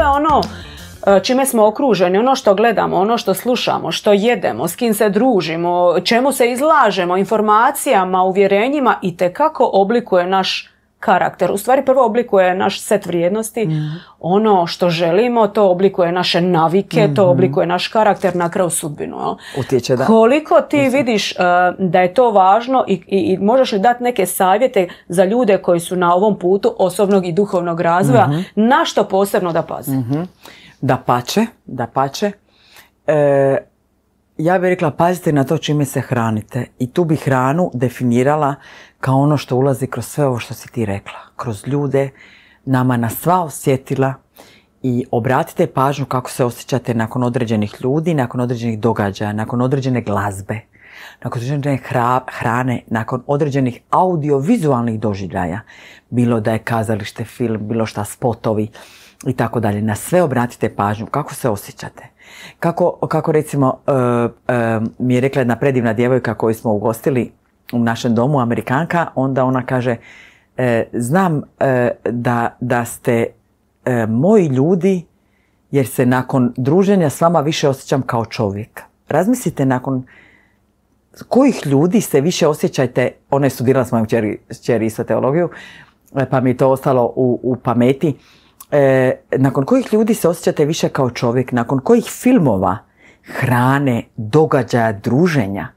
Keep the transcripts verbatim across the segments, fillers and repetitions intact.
sve ono čime smo okruženi, ono što gledamo, ono što slušamo, što jedemo, s kim se družimo, čemu se izlažemo, informacijama, uvjerenjima, itekako oblikuje naš karakter. U stvari prvo oblikuje naš set vrijednosti, mm. ono što želimo, to oblikuje naše navike, mm-hmm. to oblikuje naš karakter, na kraju sudbinu. Utječe, da. Koliko ti Utječe. vidiš uh, da je to važno i, i, i možeš li dati neke savjete za ljude koji su na ovom putu osobnog i duhovnog razvoja, mm-hmm. na što posebno da paze? Mm-hmm. Da pače, da pače. E, ja bih rekla, pazite na to čime se hranite. I tu bi hranu definirala kao ono što ulazi kroz sve ovo što si ti rekla. Kroz ljude, nama na sva osjetila i obratite pažnju kako se osjećate nakon određenih ljudi, nakon određenih događaja, nakon određene glazbe, nakon određene hra, hrane, nakon određenih audiovizualnih doživljaja. Bilo da je kazalište, film, bilo šta spotovi i tako dalje. Na sve obratite pažnju kako se osjećate. Kako, kako recimo uh, uh, mi je rekla jedna predivna djevojka koju smo ugostili u našem domu, Amerikanka, onda ona kaže e, znam e, da, da ste e, moji ljudi jer se nakon druženja s vama više osjećam kao čovjek. Razmislite nakon kojih ljudi se više osjećajte, ona je studirala s mojom čeri, čeri isto teologiju, pa mi je to ostalo u, u pameti, e, nakon kojih ljudi se osjećate više kao čovjek, nakon kojih filmova, hrane, događaja, druženja.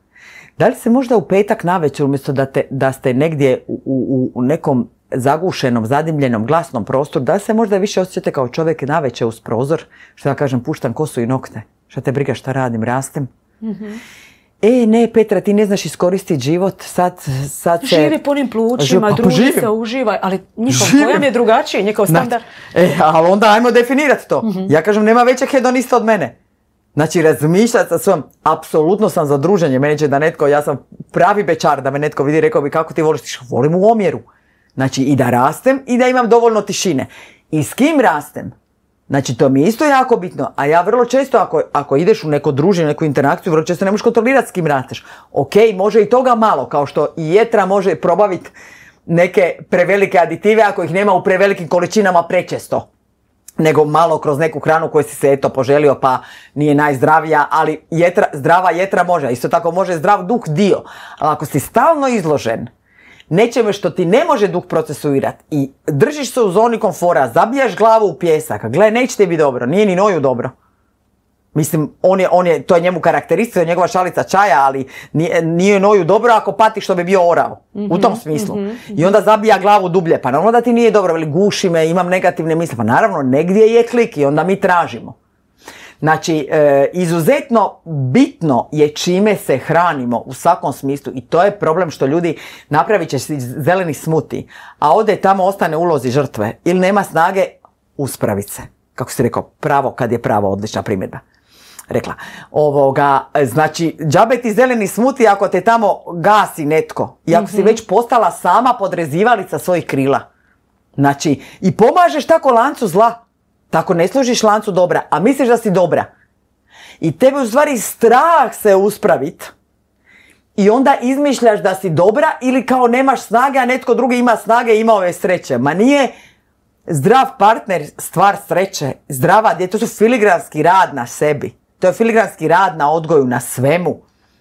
Da li se možda u petak navečer, umjesto da, te, da ste negdje u, u, u nekom zagušenom, zadimljenom, glasnom prostoru, da se možda više osjećate kao čovjek navečer uz prozor, što ja kažem, puštam kosu i nokte, šta te briga šta radim, rastem. Mm-hmm. E, ne, Petra, ti ne znaš iskoristiti život, sad, sad se... Živi punim plućima, pa, druži se, uživaj, ali njihov pojam je drugačiji, njihov standard. E, ali onda ajmo definirati to. Mm-hmm. Ja kažem, nema većeg hedonista od mene. Znači, razmišljati sa svojom, apsolutno sam za druženje, meni će da netko, ja sam pravi bečar, da me netko vidi, rekao bi kako ti voliš, ti volim u omjeru. Znači, i da rastem i da imam dovoljno tišine. I s kim rastem? Znači, to mi je isto jako bitno, a ja vrlo često, ako, ako ideš u neko druženje, neku interakciju, vrlo često ne možeš kontrolirati s kim rasteš. Ok, može i toga malo, kao što i jetra može probaviti neke prevelike aditive, ako ih nema u prevelikim količinama prečesto. Nego malo kroz neku hranu koju si se eto poželio pa nije najzdravija, ali jetra, zdrava jetra može, isto tako može zdrav duh dio. Ali ako si stalno izložen nečeme što ti ne može duh procesuirati i držiš se u zoni komfora, zabijaš glavu u pjesak, gle, neće ti biti dobro, nije ni Noju dobro. Mislim, on je, on je, to je njemu karakteristika, to je njegova šalica čaja, ali nije, nije Noju dobro ako pati što bi bio orav. Mm-hmm, u tom smislu. Mm-hmm. I onda zabija glavu dublje. Pa naravno da ti nije dobro, ili guši me, imam negativne misli. Pa naravno, negdje je klik i onda mi tražimo. Znači, e, izuzetno bitno je čime se hranimo u svakom smislu i to je problem što ljudi napravit će zeleni smuti, a ode tamo ostane ulozi žrtve ili nema snage uspraviti se. Kako si rekao, pravo kad je pravo, odlična primjedba. Rekla, ovoga, znači, džabe ti zeleni smuti ako te tamo gasi netko i ako mm-hmm. si već postala sama podrezivalica svojih krila. Znači, i pomažeš tako lancu zla, tako ne služiš lancu dobra, a misliš da si dobra. I tebe u stvari strah se uspravit i onda izmišljaš da si dobra ili kao nemaš snage, a netko drugi ima snage i imao je sreće. Ma nije zdrav partner stvar sreće, zdrava djeca, to su filigranski rad na sebi. To je filigranski rad na odgoju, na svemu.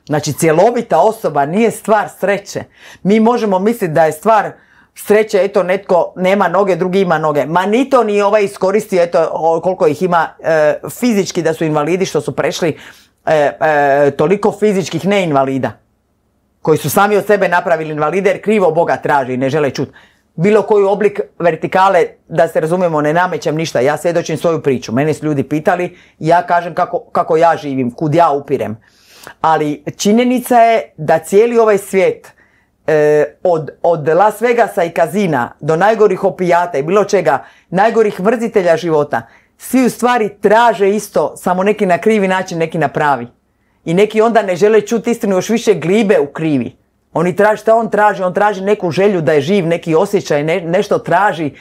Znači, cjelovita osoba nije stvar sreće. Mi možemo misliti da je stvar sreće, eto, netko nema noge, drugi ima noge. Ma ni to ni ovaj iskoristio, eto, koliko ih ima e, fizički da su invalidi, što su prešli e, e, toliko fizičkih neinvalida. Koji su sami od sebe napravili invalide jer krivo Boga traži i ne žele čuti. Bilo koji oblik vertikale, da se razumijemo, ne namećem ništa. Ja svjedočim svoju priču. Mene su ljudi pitali, ja kažem kako, kako ja živim, kud ja upirem. Ali činjenica je da cijeli ovaj svijet, eh, od, od Las Vegasa i kazina do najgorih opijata i bilo čega, najgorih mrzitelja života, svi u stvari traže isto, samo neki na krivi način, neki na pravi. I neki onda ne žele čuti istinu, još više glibe u krivi. Oni traži, šta on traži? On traži neku želju da je živ, neki osjećaj, ne, nešto traži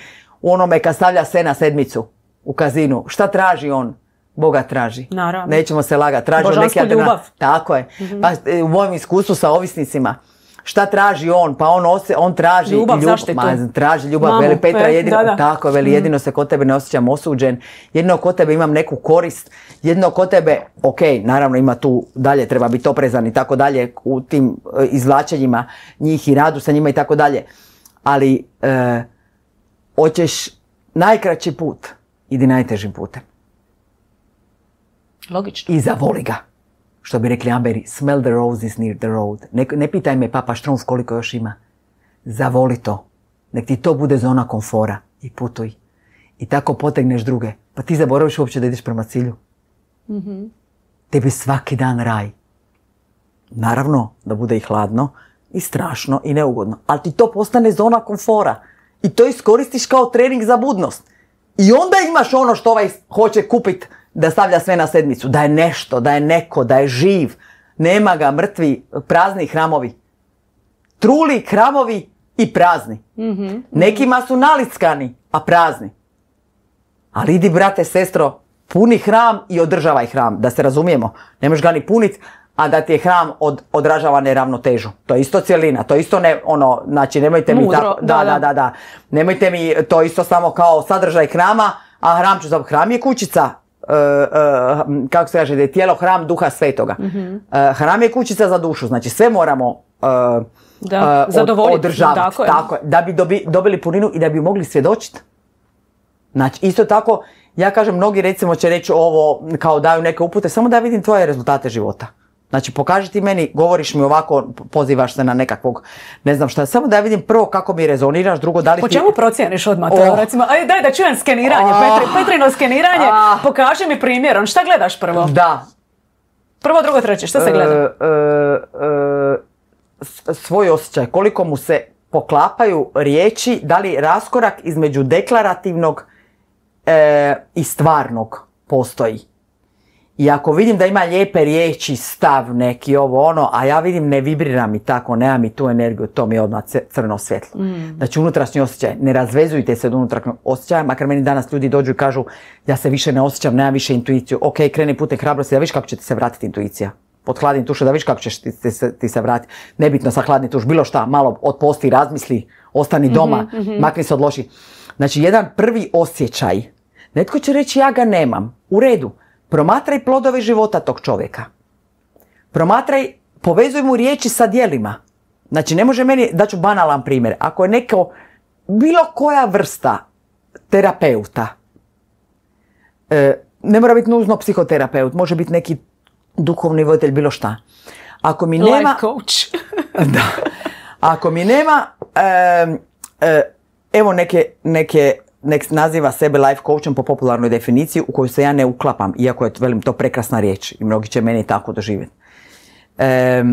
u onome kad stavlja se na sedmicu u kazinu. Šta traži on? Boga traži. Naravno. Nećemo se lagati. Traži božansku neki ljubav. Tako je. Mm-hmm. Pa, u mojem iskustvu sa ovisnicima, Šta traži on? Pa on, ose, on traži ljubav, ljub, zaštitu. Ma, traži ljubav, Mamu, veli Petra, pe, jedino, da, da. tako, veli, mm. jedino se kod tebe ne osjećam osuđen, jedino kod tebe imam neku korist, jedino kod tebe, ok, naravno ima tu dalje, treba biti oprezan i tako dalje u tim e, izvlačenjima njih i radu sa njima i tako dalje, ali e, hoćeš najkraći put, idi najtežim putem. Logično. I zavoli ga. Što bi rekli Amberi, smell the roses near the road. Ne, ne pitaj me Papa Štrumpf koliko još ima. Zavoli to. Nek ti to bude zona komfora. I putuj. I tako potegneš druge. Pa ti zaboraviš uopće da ideš prema cilju. Mm-hmm. Tebi svaki dan raj. Naravno da bude i hladno, i strašno, i neugodno. Ali ti to postane zona komfora. I to iskoristiš kao trening za budnost. I onda imaš ono što ovaj hoće kupiti da stavlja sve na sedmicu. Da je nešto, da je neko, da je živ. Nema ga, mrtvi, prazni hramovi. Truli hramovi i prazni. Mm-hmm. Nekima su nalickani, a prazni. Ali idi, brate, sestro, puni hram i održavaj hram. Da se razumijemo. Ne možeš ga ni punit, a da ti je hram od, odražava neravnotežu. To je isto cjelina, to je isto ne, ono, znači nemojte mi Mudro, tako, da, da, da. da, da, da, nemojte mi to isto samo kao sadržaj hrama, a hram ću za hram je kućica, uh, uh, kako se kaže, da je tijelo hram duha svetoga. Mm-hmm. Uh, hram je kućica za dušu, znači sve moramo uh, Da, uh, zadovoljiti. održavati, Tako je. tako je, da bi dobi, dobili puninu i da bi mogli svjedočiti. Znači, isto tako, ja kažem, mnogi recimo će reći ovo, kao daju neke upute, samo da vidim tvoje rezultate života. Znači, pokaži ti meni, govoriš mi ovako, pozivaš se na nekakvog, ne znam šta, samo da vidim prvo kako mi rezoniraš, drugo da li Po ti... čemu procijeniš odmah? Oh. Recimo, aj daj da čujem skeniranje, Oh. Petri, Petrino skeniranje, Ah. pokaži mi primjerom. Šta gledaš prvo? Da. Prvo, drugo, treće, šta se gleda? E, e, e, s- svoj osjećaj, koliko mu se poklapaju riječi, da li raskorak između deklarativnog e, i stvarnog postoji. I ako vidim da ima lijepe riječi, stav neki, ovo ono, a ja vidim ne vibrira mi tako, nema mi tu energiju, to mi je odmah c- crno svjetlo. Mm. Znači unutrašnji osjećaj, ne razvezujte se od unutrašnjeg osjećaja, makar meni danas ljudi dođu i kažu ja se više ne osjećam, nemam više intuiciju, ok, kreni putem hrabrosti, da viš kako će ti se vratiti intuicija. Pod hladnim tušom, da viš kako ćeš ti, ti, se, ti se vratiti. Nebitno sa hladni tuš, bilo šta, malo otposti, razmisli, ostani doma, mm-hmm, mm-hmm. makni se od loših. Znači jedan prvi osjećaj, netko će reći ja ga nemam, u redu. Promatraj plodove života tog čovjeka. Promatraj, povezuj mu riječi sa djelima. Znači, ne može meni, daću banalan primjer. Ako je neko, bilo koja vrsta terapeuta, e, ne mora biti nužno psihoterapeut, može biti neki duhovni voditelj, bilo šta. Ako mi nema... Life coach. Da. Ako mi nema, e, e, evo neke, neke nek naziva sebe life coachom po popularnoj definiciji u koju se ja ne uklapam, iako je, velim, to prekrasna riječ i mnogi će meni tako doživjeti. E,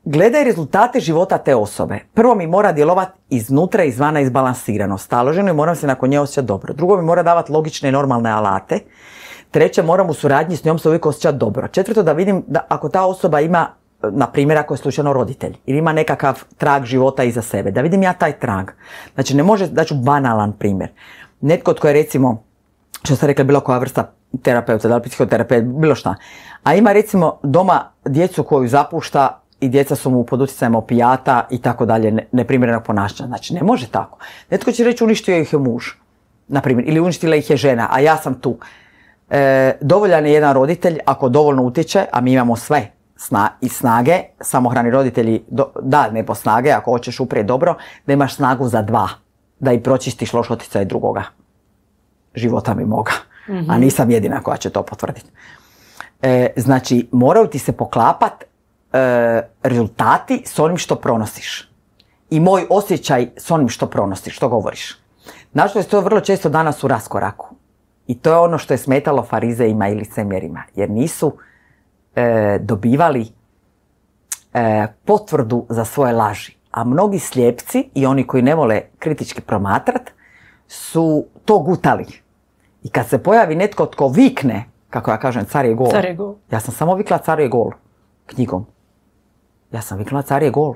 gledaj rezultate života te osobe. Prvo mi mora djelovati iznutra i izvana izbalansirano, staloženo i moram se nakon nje osjećati dobro. Drugo mi mora davati logične i normalne alate. Treće, moram u suradnji s njom se uvijek osjećati dobro. Četvrto, da vidim da ako ta osoba ima, na primjer ako je slučajno roditelj ili ima nekakav trag života iza sebe, da vidim ja taj trag. Znači ne može, daću banalan primjer. Netko tko je recimo, što ste rekli, bilo koja vrsta terapeuta, da li psihoterapeut, bilo šta, a ima recimo doma djecu koju zapušta i djeca su mu pod utjecajem opijata i tako dalje, neprimjerenog ponašanja. Znači ne može tako. Netko će reći uništio ih je muž, na primjer, ili uništila ih je žena, a ja sam tu. E, dovoljan je jedan roditelj ako dovoljno utječe, a mi imamo sve sna, i snage, samohrani roditelji, do, da, ne po snage, ako hoćeš uprijeti dobro, da imaš snagu za dva, da i pročistiš loš utjecaj drugoga života mi moga, mm-hmm. a nisam jedina koja će to potvrditi. E, znači, moraju ti se poklapat e, rezultati s onim što pronosiš i moj osjećaj s onim što pronosiš, što govoriš. Nažalost, to je vrlo često danas u raskoraku. I to je ono što je smetalo farizeima i licemjerima, jer nisu e, dobivali e, potvrdu za svoje laži. A mnogi slijepci i oni koji ne vole kritički promatrat su to gutali. I kad se pojavi netko tko vikne, kako ja kažem, car je gol. Car je gol. Ja sam samo vikla car je gol knjigom. Ja sam vikla car je gol.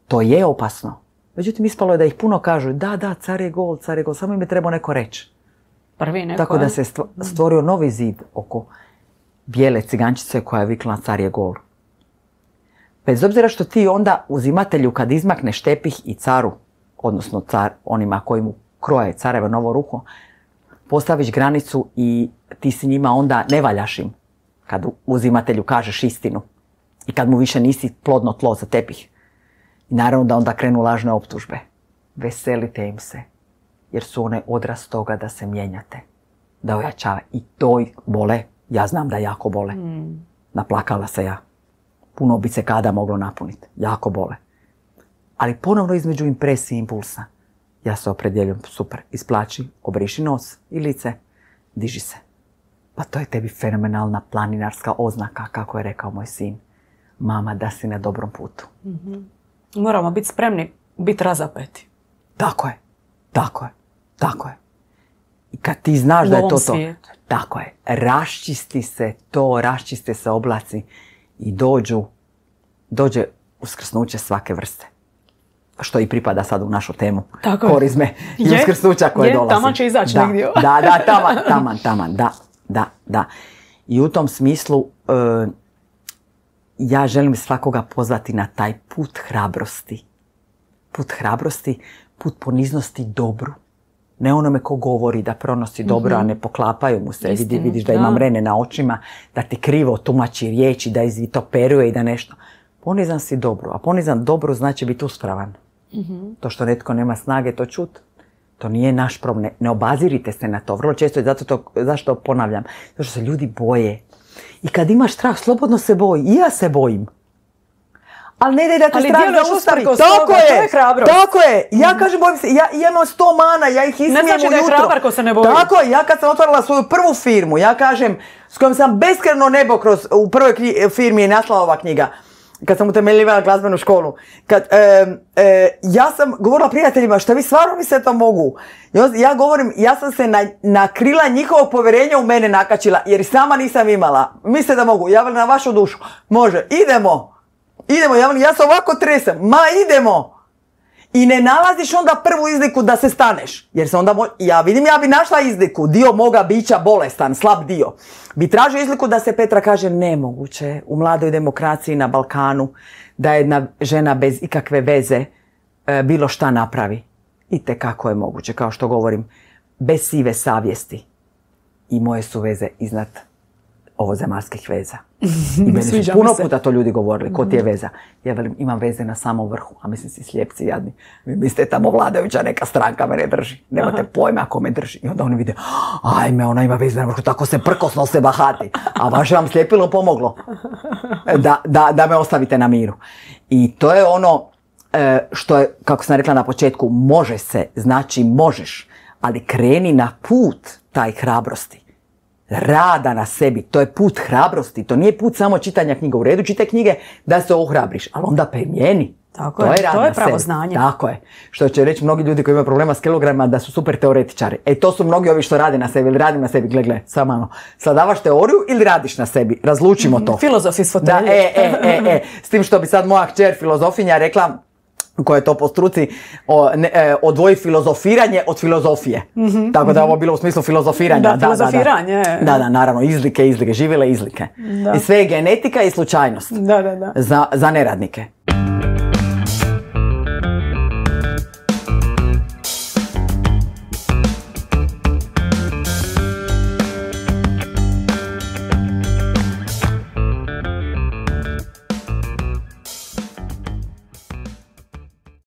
To je opasno. Međutim, ispalo je da ih puno kažu, da, da, car je gol, car je gol, samo im je trebao neko reći. Prvi neko. Tako da se stvorio novi zid oko bijele cigančice koja je vikla car je gol. Bez obzira što ti onda uzimatelju kad izmakneš tepih i caru, odnosno car, onima koji mu kroje carevo novo ruho, postaviš granicu i ti si njima onda ne valjaš im kad uzimatelju kažeš istinu i kad mu više nisi plodno tlo za tepih. I naravno da onda krenu lažne optužbe. Veselite im se, jer su one odraz toga da se mijenjate, da ojačava. I to bole, ja znam da jako bole. Mm. Naplakala se ja. Puno bi se kada moglo napuniti. Jako bole. Ali ponovno između impresije i impulsa. Ja se opredjeljujem, super, isplači, obriši nos i lice, diži se. Pa to je tebi fenomenalna planinarska oznaka, kako je rekao moj sin. Mama, da si na dobrom putu. Mm-hmm. Moramo biti spremni, biti razapeti. Tako je, tako je, tako je. I kad ti znaš da je to to, tako je, raščisti se to, raščiste se oblaci i dođu, dođe uskrsnuće svake vrste. Što i pripada sad u našu temu. Tako korizme i je, uskrsnuća koje je, dolazi. Taman će izaći da, negdje. Da, da, taman, taman, taman, da, da, da. I u tom smislu uh, ja želim svakoga pozvati na taj put hrabrosti. Put hrabrosti, put poniznosti dobru. Ne onome ko govori da pronosi dobro, mm-hmm. a ne poklapaju mu se. Vidi, vidiš da ima mrene na očima, da ti krivo tumači riječi, da izvitoperuje i da nešto. Ponizan si dobro, a ponizan dobro znači biti uspravan. Mm-hmm. To što netko nema snage to čut, to nije naš problem. Ne, ne obazirite se na to. Vrlo često je zato to, zašto ponavljam, zato što se ljudi boje. I kad imaš strah, slobodno se boji. I ja se bojim. Ali ne daj da te ali strah zaustavi. Tako toga, je, to je hrabrost. Tako je. Ja mm-hmm. kažem, bojim se, ja, ja imam sto mana, ja ih ismijem ujutro. Ne znači da je hrabar ko se ne boji. Tako je, ja kad sam otvorila svoju prvu firmu, ja kažem, s kojom sam beskreno nebo kroz, u prvoj kri, firmi je nasla ova knjiga, kad sam utemeljivala glazbenu školu, kad, e, e, ja sam govorila prijateljima, šta vi stvarno mi se to mogu? Ja govorim, ja sam se na, na krila njihovog povjerenja u mene nakačila, jer sama nisam imala. Misle da mogu, ja na vašu dušu. Može, idemo, idemo, ja, ja se ovako tresem, ma idemo. I ne nalaziš onda prvu izliku da se staneš. Jer se onda, mo- ja vidim, ja bi našla izliku, dio moga bića bolestan, slab dio. Bi tražio izliku da se Petra kaže nemoguće u mladoj demokraciji na Balkanu da jedna žena bez ikakve veze e, bilo šta napravi. Itekako je moguće, kao što govorim, bez sive savjesti. I moje su veze iznad ovozemaljskih veza. I meni su puno puta to ljudi govorili, ko ti je veza. Ja velim, imam veze na samom vrhu, a mislim si slijepci jadni. Vi mislite tamo vladajuća neka stranka mene drži. Nemate Aha. pojma ko me drži. I onda oni vide, ajme, ona ima veze na vrhu, tako se prkosno se bahati. A vaše vam slijepilo pomoglo da, da, da me ostavite na miru. I to je ono što je, kako sam rekla na početku, može se, znači možeš, ali kreni na put taj hrabrosti. Rada na sebi, to je put hrabrosti, to nije put samo čitanja knjiga. U redu, čitaj knjige da se ohrabriš, ali onda primjeni. Tako to je, je to je pravo znanje. Tako je. Što će reći mnogi ljudi koji imaju problema s kilogramima da su super teoretičari. E to su mnogi ovi što rade na sebi ili radim na sebi. Gle, gle, samo malo. Sadavaš teoriju ili radiš na sebi? Razlučimo to. Filozofi s fotelje. Da, e, e, e, e. S tim što bi sad moja kćer filozofinja rekla, koja je to po struci, o, ne, e, odvoji filozofiranje od filozofije. Mm-hmm, Tako da je ovo bilo u smislu filozofiranja. Da, da filozofiranje. Da, da, da, da, naravno, izlike, izlike, živjele izlike. Da. I sve je genetika i slučajnost. Da, da, da. Za, za neradnike.